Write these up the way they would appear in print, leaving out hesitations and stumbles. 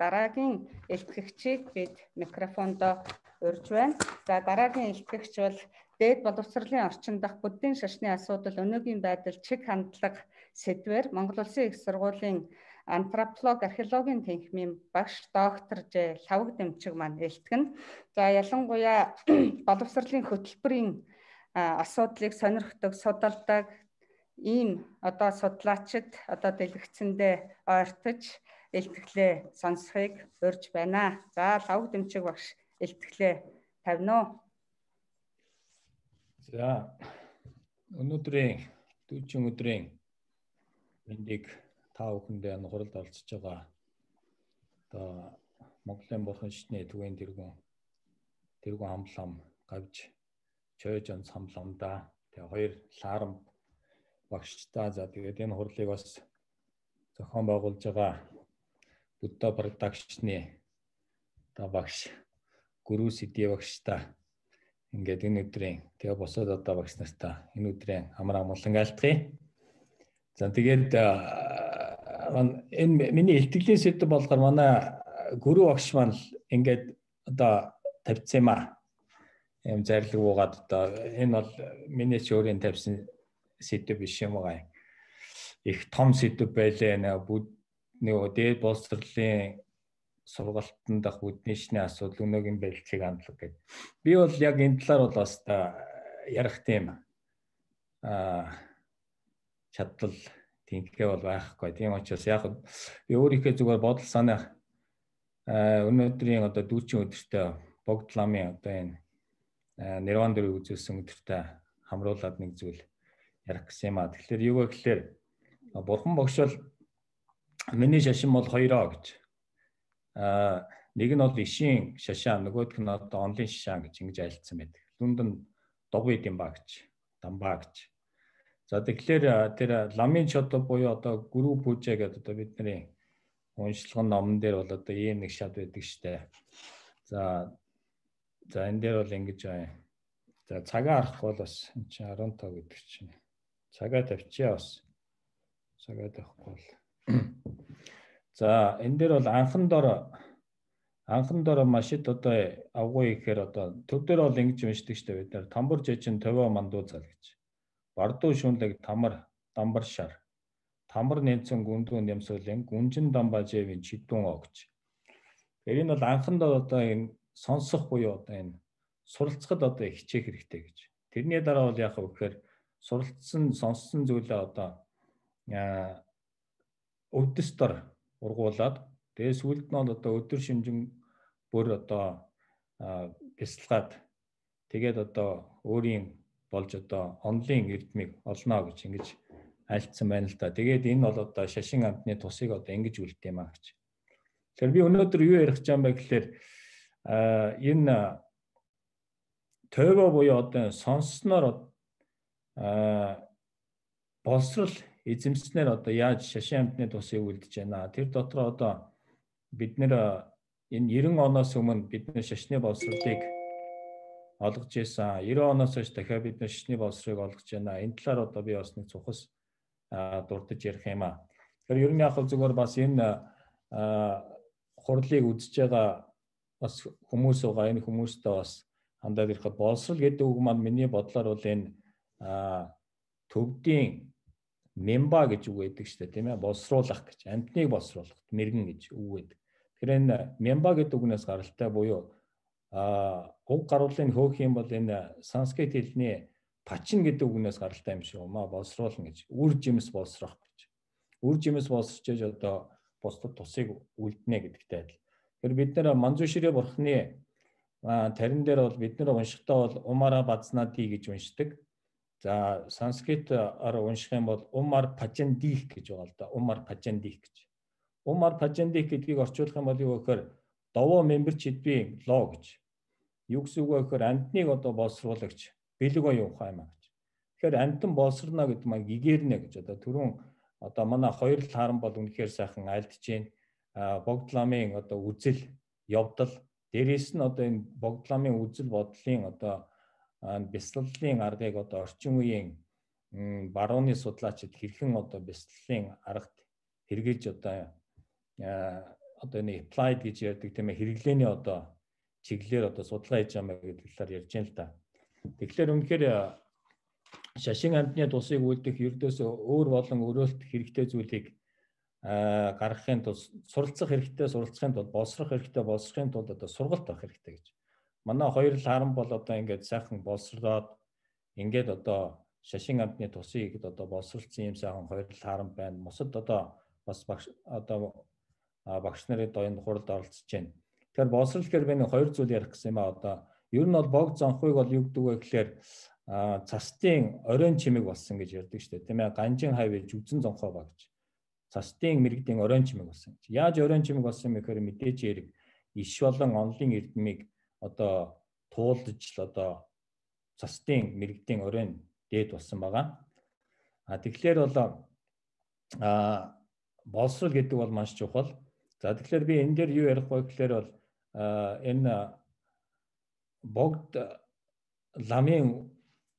дараагийн илтгэгчийг бид микрофондоо урьж байна. За дараагийн илтгэгч бол дээд боловсролын орчин дахь буддийн шашны асуудал өнөөгийн байдал чиг хандлага сэдвээр Монгол Улсын их сургуулийн антрополог археологийн тэнхимийн багш доктор Ж. Лавг Дэмчиг маань илтгэн. За ялангуяа боловсролын хөтөлбөрийн асуудлыг сонирхдог, судалдаг ийм судлаачид дэлгэцэндээ ойртож илтгэлээ сонсхийг урьж байна. За Лавг Дэмчиг багш илтгэлээ тавина уу? За өнөөдрийн дүүчин өдрийн мэндийг та бүхэндээ нухралд олцож байгаа. Монголын бурхан шишний төвийн тэргүүн хамлам гавж чойж онц хамламда тэгээ хоёр лаарам багштай тэгээд энэ хурлыг бас зохион байгуулж байгаа Будда продакшны багш Гүрүү Сэдий багштай ингээд энэ өдрийн тэгээ босоод багш нартай энэ өдрийн амар амгалан айлтгая. За тэгээд энэ миний илтгэлийн сэдэв болохоор манай Гүрүү багш маань ингээд тавьсан юм аа. Ийм зарлиг буугаад энэ бол миний ч өөрийн тавьсан сэдэв биш юм аа. Их том сэдэв байлээ. Нөгөө дээд боловсролын сургалтанд дах буддийн шашны асуудал өнөөгийн байдлыг хандлага гэдэг. Би бол яг энэ талаар бол бас ярих тийм чадвал тэнхээ бол байхгүй. Тийм учраас яг би өөрийнхөө зүгээр бодол санаа өнөөдрийн дүүчин өдөртөө богд ламын энэ нирван дөрвийг үзүүлсэн өдөртөө хамруулад нэг зүйл ярих гэсэн юм аа. Тэгэхээр юу вэ гэхээр бурхан багш бол миний шашин бол хоёроо гэж. Нэг нь бол ишийн шашаа, нөгөөх нь онлын шашаа гэж ингэж айлцсан байдаг. Дүнд нь дугуй дэмба гэж, дамбаа гэж. За тэгэхээр тэр ламын чод буюу гүрүү пүүжэ гэдэг бидний уншлагын номон дээр бол ийм нэг шат байдаг штэ. За энэ дээр бол ингэж байна. За цагаа харахгүй бол бас энэ чинь 15 гэдэг чинь. Цагаа тавьчихъя бас. Цагаа тавихгүй бол. За энэ дээр бол анхан дор машид авгуй гэхээр төв дээр бол ингэж уншдаг штэ бид нар тамбар жичин төвөө мандуу цал гэж. Бардуу шүнлэг тамар дамбар шар. Тамар нэмсэн гүндүүн нэмсүүлэн гүнжин дамбаа жэвийн чидүүн оо гэж. Тэр энэ бол анхандаа энэ сонсох буюу энэ суралцахад хичээх хэрэгтэй гэж. Тэрний дараа бол яах вэ гэхээр суралцсан сонссон зүйлээ өвдөстөр ургуулад тэгээ сүлд нь өдөр шимжин бүр бясалгаад тэгээд өөрийн болж онлын эрдмийг олно гэж ингэж альцсан байна л да. Тэгээд энэ бол шашин амтны тусыг ингэж үлдэх юм аа гэж. Тэгэхээр би өнөөдөр юу ярих гэж байгаа юм бэ гэхээр энэ төвөө буюу сонссноор боловсрол эзэмснээр яаж шашин амтны тусыг үлдэж байна. Тэр дотор бид нэр энэ 90 оноос өмнө бидний шашны боловсролыг олгож ирсэн. 90 оноос хойш дахиад бид шашны боловсролыг олгож байна. Энэ талаар би бас нэг цухас дурдж ярих юм аа. Тэгэхээр ер нь яг зүгээр бас энэ хурлыг үзэж байгаа бас хүмүүс байгаа. Энэ хүмүүстээ бас хандаад ирэхэд боловсрол гэдэг үг маань миний бодлоор бол энэ төвдийн мемба гэж үг байдаг шүү дээ, тийм ээ? Боловсруулах гэж, амьтныг боловсруулах, мэргэн гэж үг байдаг. Тэгэхээр энэ мемба гэдэг үгнээс гаралтай буюу уг гаруулын хөөх юм бол энэ санскрит хэлний пачин гэдэг үгнээс гаралтай юм шиг юм аа, боловсруулна гэж. Үр жимс боловсрох гэж. Үр жимс боловсрчээж бусдад тусыг үлднэ гэдэгтэй адил. Тэгэхээр бид нэр Манжуширэ бурхны тарин дээр бол бид нэр уншихтаа бол умара базнати гэж уншдаг. За санскритаар унших юм бол умар пачандих гэж байгаа л да. Умар пачандих гэж. Умар пачандих гэдгийг орчуулах юм бол юу гэхээр довоо мемберч хэдвийн лоо гэж. Юу гэсэн үг вэ гэхээр амьтныг боловсруулагч бэлэг оюун ухаан юм а гэж. Тэгэхээр амьтан боловсрно гэдэг маань гэгэрнэ гэж түрүүн манай хоёр л харан бол үнэхээр сайхан альдж जैन богд ламын үзэл явдал дээрээс нь энэ богд ламын үзэл бодлын бясалгалын аргыг орчин үеийн барууны судлаачид хэрхэн бясалгалын аргад хэрэгжилж одоо нэг applied гэж ярьдаг тийм ээ хэрэглээний одоо чиглэлээр одоо судалгаа хийж байгаа гэдэг талаар ярьж байна л да. Тэгэхээр үнэхээр шашин амьтны тусыг үлдэх ердөөсөө өөр болон өрөөлт хэрэгтэй зүйлийг гаргахын тулд суралцах хэрэгтэй, суралцахын тулд боловсрох хэрэгтэй, боловсрохын тулд одоо сургалт авах хэрэгтэй гэж. Манай хоёр л харан бол одоо ингээд сайхан боловсроод ингээд одоо шашин амьтны тусыг одоо боловсруулсан юм сайхан хоёр л харан байна. Мосод одоо бас багш нарын доёнд хуралд оролцож байна. Тэгэхээр боловсрол гэхээр би нэг хоёр зүйл ярих гэсэн юм а одоо ер нь бол богд зонхыг бол юу гэдэг вэ гэхээр цастын оройн чимэг болсон гэж ярьдаг шүү дээ. Тийм ээ ганжин хавь жүзэн зонхоо ба гэж. Цастын мэрэгдийн оройн чимэг болсон гэж. Яаж оройн чимэг болсон юм бэ гэхээр мэдээж хэрэг иш болон онлын эрдмийг одоо туулж л одоо цастын мэрэгдийн оройн дээд болсон байгаа. Тэгэхээр бол боловсрол гэдэг бол маш чухал. За тэгэхээр би энэ дээр юу ярих вэ гэхээр бол энэ богд ламын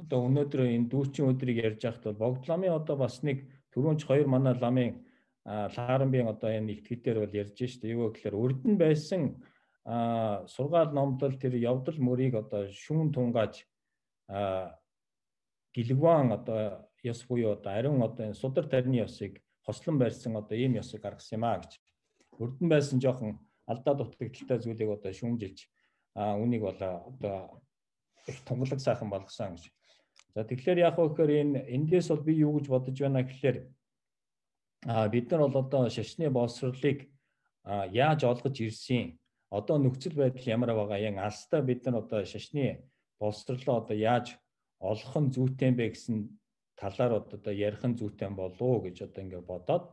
одоо өнөөдөр энэ дүүрчин өдрийг ярьж байхад бол богд ламын одоо бас нэг түрүүнч хоёр манай ламын Лааранбийн одоо энэ итгэдээр бол ярьж штэ юу гэхээр урд нь байсан сургаал номдол тэр явдал мөрийг одоо шүүн тунгааж гэлгван одоо ёс буюу одоо ариун одоо энэ судар тарины ёсыг хослон барьсан одоо ийм ёсыг гаргасан юм а гэж. Урд нь байсан жоохон алдаа дутагдaltaй зүйлийг одоо шүүмжилж үнийг бол одоо их тунгалаг сайхан болгосон гэж. За тэгэхээр яг хөөхөр эндээс бол би юу гэж бодож байна гэхээр бид нар бол одоо шашны боловсролыг яаж олгож ирсэн одоо нөхцөл байдал ямар байгаа яг алстаа бид нар одоо шашны боловсролоо одоо яаж олох нь зүйтэй бэ гэсэн талаар одоо ярих нь зүйтэй болов уу гэж одоо ингээд бодоод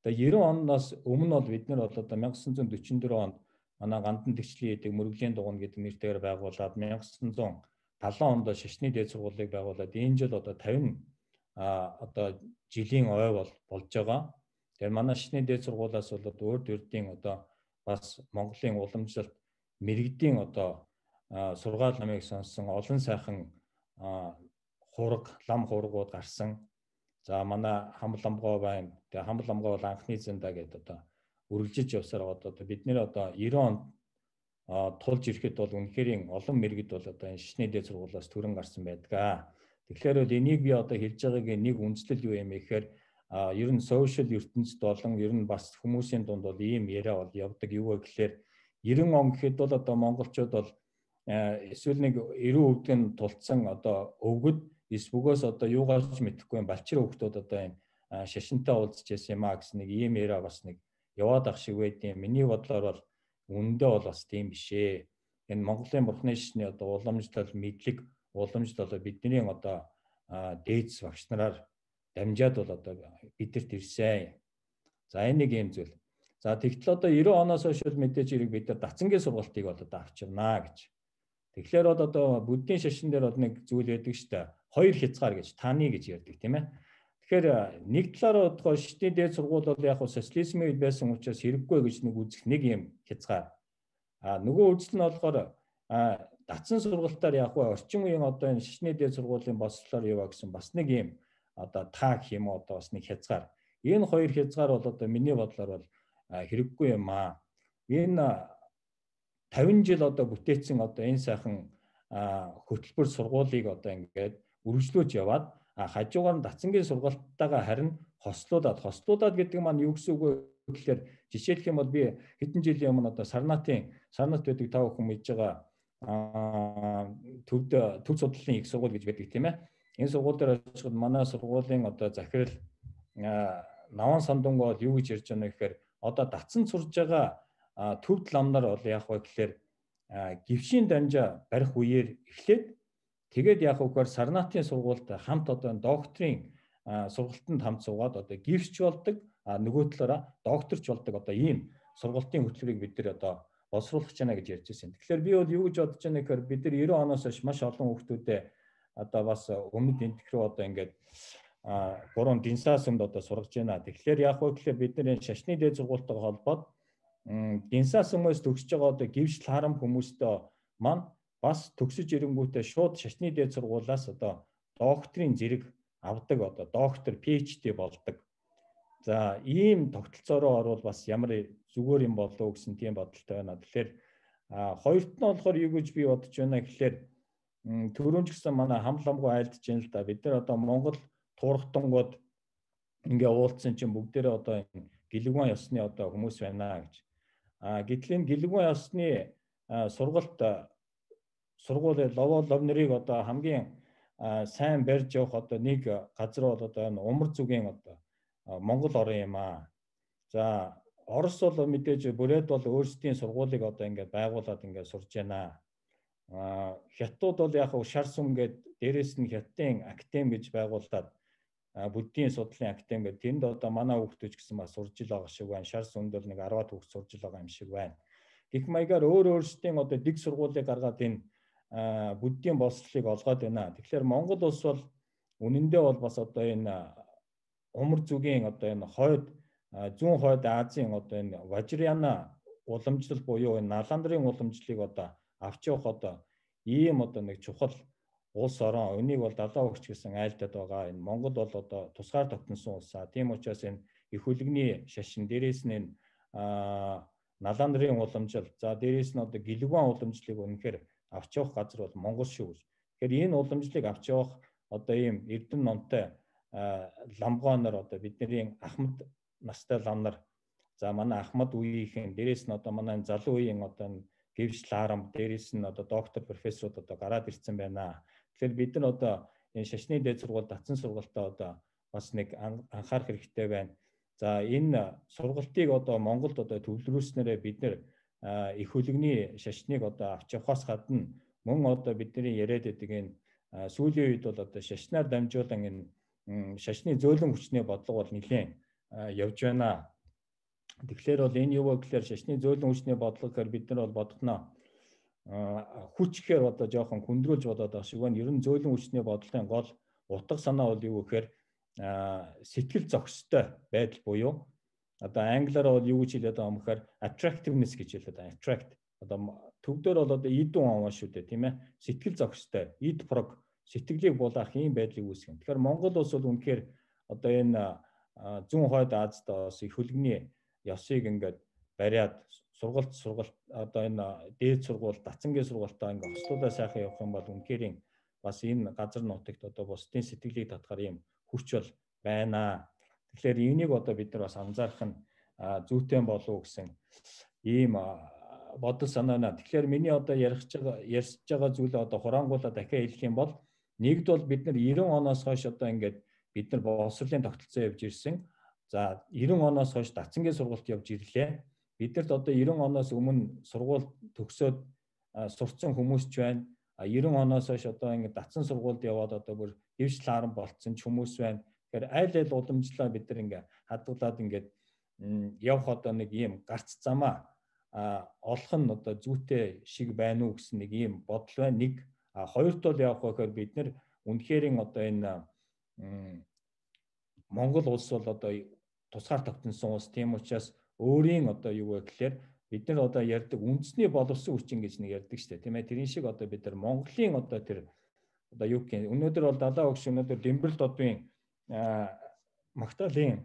одоо 90 оноос өмнө бол бид нар бол одоо 1944 онд манай гандан тэгчлийн эдэг мөрөглийн дугуйн гэдэг нэртэйгээр байгуулад 1970 онд шашны дээд сургуулийг байгуулад энэ жил одоо 50 одоо жилийн ой болж байгаа. Тэгэхээр манай шашны дээд сургуулиас бол урд ердийн одоо бас Монголын уламжлалт мэрэгдийн одоо сургаал намыг сонсон олон сайхан лам хургууд гарсан. За манай хамбал амгой байна. Тэгээ хамбал амгой бол анхны зэндаа гэдэг одоо үргэлжиж явсаар одоо бид нэр одоо 90 онд тулж ирэхэд бол үнэхээр олон мэрэгд бол одоо энэ шашны дээд сургуулиас төрөн гарсан байдаг. Тэгэхээр бол энийг би одоо хэлж байгаагийн нэг үндслэл юу юм бэ гэхээр ер нь сошиал ертөнцид болон ер нь бас хүмүүсийн дунд бол ийм яриа бол явдаг юу вэ гэхээр 90 он гэхэд бол одоо монголчууд бол эсвэл нэг 90% нь тулцсан одоо өвгөд эсвгөөс одоо юугаарч мэдэхгүй балчир хөвгтүүд одоо энэ шашинтай уулзж байсан юм а гэсэн нэг ийм яриа бас нэг яваад ах шиг байдیں۔ Миний бодлоор бол үндэ бол бас тийм биш ээ. Энэ Монголын бурхны шашны одоо уламжлал мэдлэг уламжлал бидний одоо дээдс багш нараар дамжаад бол одоо бидэрт ирсэн. За энэ нэг юм зүйл. За тэгтэл одоо 90 оноос хойш мэдээж хэрэг бид нар дацангийн сургалтыг бол одоо авчирнаа гэж. Тэгэхээр бол одоо буддийн шашин дээр бол нэг зүйл байдаг шүү дээ. Хоёр хязгаар гэж таны гэж ярьдаг тийм ээ. Тэгэхээр нэг талаараа бодоход шашны дээд сургууль бол яг социализмын үед байсан учраас хэрэггүй гэж нэг үзэх нэг юм хязгаар. Нөгөө үзэл нь болохоор дацсан сургалтаар яг орчин үеийн одоо энэ шашны дээд сургуулийн боловсролоор яваа гэсэн бас нэг юм одоо таа гэх юм уу одоо бас нэг хязгаар. Энэ хоёр хязгаар бол одоо миний бодлоор бол хэрэггүй юм аа. Энэ 50 жил одоо бүтээсэн одоо энэ сайхан хөтөлбөр сургуулийг одоо ингээд үргэлжлүүлж яваад хажуугаар нь дацангийн сургалтайгаа харин хослуулаад гэдэг маань юу гэсэн үг вэ гэхээр жишээлх юм бол би хэдэн жилийн өмнө одоо Сарнат байдаг та бүхэн мэдж байгаа төв судлалын их сургууль гэж байдаг тийм ээ. Энэ сургууль дээр очиход манай сургуулийн одоо захирал Наван Сандунгоо юу гэж ярьж байна гэхээр одоо дацсан сурж байгаа төвд ламнар бол яг вэ гэхээр гівшийн дамжаа барих үеэр эхлээд тэгээд яг үгээр Сарнатын сургуульд хамт одоо докторийн сургалтанд хамт суугаад одоо гівсч болдог нөгөө талаараа докторч болдог одоо ийм сургалтын хөтөлбөрийг бид нар одоо боловсруулах гэж байна гэж ярьж байсан. Тэгэхээр би бол юу гэж бодож байна гэхээр бид нар 90 оноос хойш маш олон хүүхдүүдэд одоо бас өмнөд энтэх рүү одоо ингээд 3 динсаа сүмд одоо сургаж байна. Тэгэхээр яг вэ гэхээр бид нар энэ шашны дээд сургуультайгаа холбоод динсаа сүмээс төгсөж байгаа одоо гівшл харам хүмүүстэй маань бас төгсөж ирэнгүүтээ шууд шашны дээд сургуулиас одоо докторийн зэрэг авдаг одоо доктор PhD болдог. За ийм тогтолцоороо орвол бас ямар зүгээр юм болов уу гэсэн тийм бодолтой байна. Тэгэхээр хоёрт нь болохоор юу гэж би бодож байна гэхээр түрүүн ч гэсэн манай хамламгүй айлдж байна л да. Бид нар одоо Монгол туурхтангууд ингээ уулзсан чинь бүгдээрээ одоо гэлэгвэн ёсны одоо хүмүүс байна гэж. Гэтэл энэ гэлэгвэн ёсны сургууль лов нарыг одоо хамгийн сайн барьж явах одоо нэг газар бол одоо энэ Умар зүгийн одоо Монгол орн юм аа. За Орос бол мэдээж бүрээд бол өөрсдийн сургуулийг одоо ингээд байгуулад ингээд сурж байна. Хятад бол яг шар сүм гээд дээрэс нь Хятадын академи гэж байгуулад буддийн судлалын академи гэдэг тэнд одоо манай хүүхдүүд ч гэсэн бас сурж ил байгаа шиг байна. Шар сүмд бол нэг 10-аад хүүхд сурж ил байгаа юм шиг байна. Гэх маягаар өөрсдийн одоо дэг сургуулийг гаргаад энэ буддийн боловсролыг олгоод байна. Тэгэхээр Монгол улс бол үнэндээ бол бас одоо энэ Умар зүгийн одоо энэ зүүн хойд Азийн одоо энэ Важраяна уламжлал буюу энэ Наландрын уламжлалыг одоо авч явах одоо ийм одоо нэг чухал улс орон энийг бол далаа өгч гэсэн айлтад байгаа. Энэ Монгол бол одоо тусгаар тогтносон улс. Тийм учраас энэ их хөлөгний шашин дээрээс нь энэ Наландрын уламжлал за дээрээс нь одоо гэлэгвэн уламжлалыг үнэхээр авч явах газар бол Монгол шүү. Тэгэхээр энэ уламжлалыг авч явах одоо ийм эрдэм номтой ламгооноор одоо бидний Ахмад настай лам нар за манай Ахмад үеийнхэн дээрээс нь одоо манай залуу үеийн одоо Гэвч Ларам дээрээс нь одоо доктор профессорууд одоо гараад ирсэн байна. Тэгэхээр бид нар одоо энэ шашны дээд сургууль татсан сургалтаа одоо бас нэг анхаарах хэрэгтэй байна. За энэ сургалтыг одоо Монголд одоо төвлөрүүлснээрээ бид нар их хөлөгний шашныг одоо авч явахаас гадна мөн одоо бидний яриад байдаг энэ сүүлийн үед бол одоо шашнаар дамжуулан энэ шашны зөөлөн хүчний бодлого бол нэлээд явж байна. Тэгэхээр бол энэ юу вэ гэхээр шашны зөөлөн хүчний бодлого гэхээр бид нар бол бодгоно хүч гэхээр одоо жоохон хүндрүүлж бодоод байгаа шиг байна. Ер нь зөөлөн хүчний бодлогын гол утга санаа бол юу гэхээр сэтгэл зохистой байдал буюу одоо англиар бол юу гэж хэлээд байгаа юм гэхээр attractiveness гэж хэлээд байгаа. Attract одоо төвдөр бол одоо идүүн аваа шүү дээ тийм ээ. Сэтгэл зохистой, ид прог сэтгэлийг булаах ийм байдлыг үүсгэн. Тэгэхээр Монгол улс бол үнэхээр одоо энэ зүүн хойд Азад бас их хөлөгний ёсыг ингээд бариад сургалт одоо энэ дээд сургууль, дацангийн сургалтаа ингээд хослуулаа сайхан явах юм бол үнэхээр бас энэ газар нутагт одоо бусдын сэтгэлийг татахаар ийм хүч бол байна. Тэгэхээр энийг одоо бид нар бас анзаарах нь зүйтэй болов гэсэн ийм бодол санаа байна. Тэгэхээр миний одоо ярьж байгаа зүйлээ одоо хураангуулаад дахиад хэлэх юм бол нэгд бол бид нар 90 оноос хойш одоо ингээд бид нар боловсролын тогтолцоо явж ирсэн. За 90 оноос хойш дацангийн сургалт явж ирлээ. Бидэрт одоо 90 оноос өмнө сургууль төгсөөд сурцсан хүмүүс ч байна. 90 оноос хойш одоо ингээд дацсан сургуульд яваад одоо бүр дэвш лааран болцсон ч хүмүүс байна. Тэгэхээр айл уламжлалаа бид нар ингээд хадгалаад ингээд явах одоо нэг ийм гарц замаа олох нь одоо зүйтэй шиг байна уу гэсэн нэг ийм бодол байна. Нэг хоёрт бол явах гэхээр бид нар үнэхээр одоо энэ Монгол улс бол одоо тусгаар тогтносон улс. Тийм учраас өөрийн одоо юу вэ гэхээр бид нар одоо ярьдаг үндэсний боловсон хүчин гэж нэг ярьдаг шүү дээ. Тийм ээ. Тэрийн шиг одоо бид нар Монголын одоо тэр одоо юу гэх юм өнөөдөр бол далаа өгш өнөөдөр Дэмбэрэлт одын Магтаалын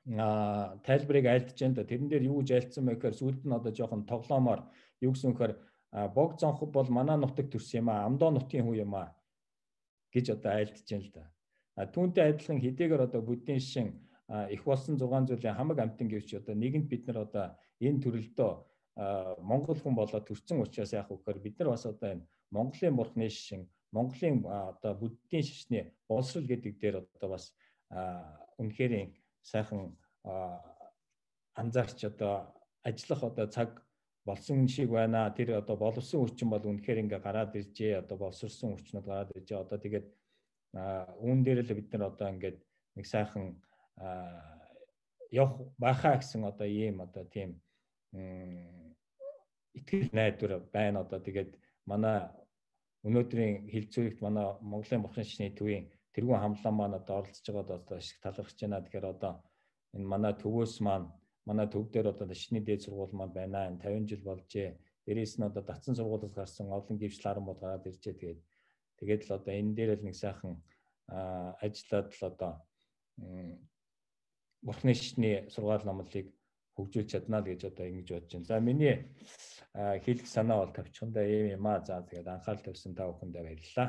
тайлбарыг айлдж байна да. Тэрэн дээр юу гэж айлдсан бэ гэхээр сүүлд нь одоо жоохон тоглоомоор юу гэсэн гэхээр бог зонхог бол манай нутаг төрсөн юм аа. Амдоо нутгийн хүү юм аа гэж одоо айлдж байна л да. Түүнтэй адилхан хэдийгээр одоо буддийн шин их болсон 6 зүйлийн хамаг амтан гэвч одоо нэгэнт бид нар одоо энэ төрөлдөө Монгол хүн болоод төрсэн учраас яах вэ гэхээр бид нар бас одоо энэ Монголын бурхны шин Монголын одоо буддийн шашны боловсрол гэдэг дээр одоо бас үнэхээр сайхан анзаарч одоо ажиллах одоо цаг болсон шиг байна. Тэр одоо боловсон хүчин бол үнэхээр ингээ гараад иржээ. Одоо боловсрсон хүчнүүд гараад иржээ. Одоо тэгээд үүн дээр л бид нар одоо ингээд нэг сайхан явах байхаа гэсэн одоо ийм одоо тийм итгэл найдвар байна. Одоо тэгээд манай өнөөдрийн хилцүүлэгт манай Монголын бурхны шашны төвийн тэргүүн хамлаа маань одоо оролцож байгаад одоо ашиг талархаж байна. Тэгэхээр одоо энэ манай төвөөс маань манай төв дээр одоо шашны дээд сургууль маань байна. 50 жил болжээ. Дээрээс нь одоо дацсан сургуулиас гарсан олон гівч ларамууд гараад иржээ. Тэгээд л одоо энэ дээр л нэг сайхан ажиллаад л одоо Бурхны шишний сургаал номлыг хөгжүүлж чадна л гэж одоо ингэж бодож байна. За миний хэлэх санаа бол тавьчихсан да ийм юм аа. За тэгээд анхаарал тавьсан та бүхэндээ баярлалаа.